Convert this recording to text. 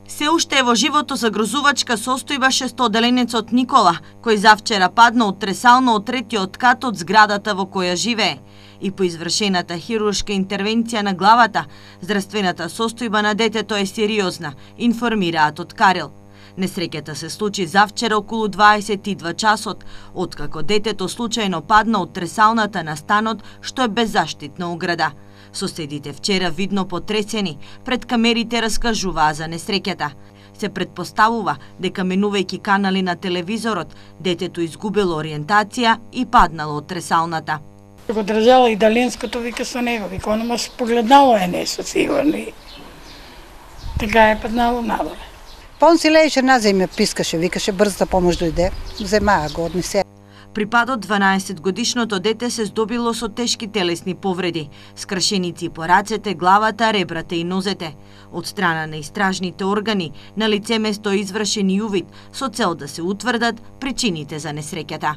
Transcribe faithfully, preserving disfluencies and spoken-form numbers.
Се уште е во живото загрозувачка состојба шестоделенецот Никола, кој завчера падна од тресално од третиот кат од зградата во која живее. И по извршената хируршка интервенција на главата, здравствената состојба на детето е сериозна, информираат од Карел. Несреќата се случи завчера околу дваесет и два часот, откако детето случајно падна од тресалната на станот, што е беззаштитна ограда. Соседите вчера видно потресени пред камерите раскажуваа за несреќата. Се предпоставува дека менувајќи канали на телевизорот, детето изгубило ориентација и паднало од тресалната. Го држала и далинското, вика со него, вика, оно може погледнало е нешто сигурно. Така е паднало надоле. Па он си лееше на земја, пискаше, викаше брза помош дојде, земаа го однесе. При падот дванаесетгодишното дете се здобило со тешки телесни повреди, скршеници по рацете, главата, ребрата и нозете. Од страна на истражните органи, на лице место извршен и увид со цел да се утврдат причините за несреќата.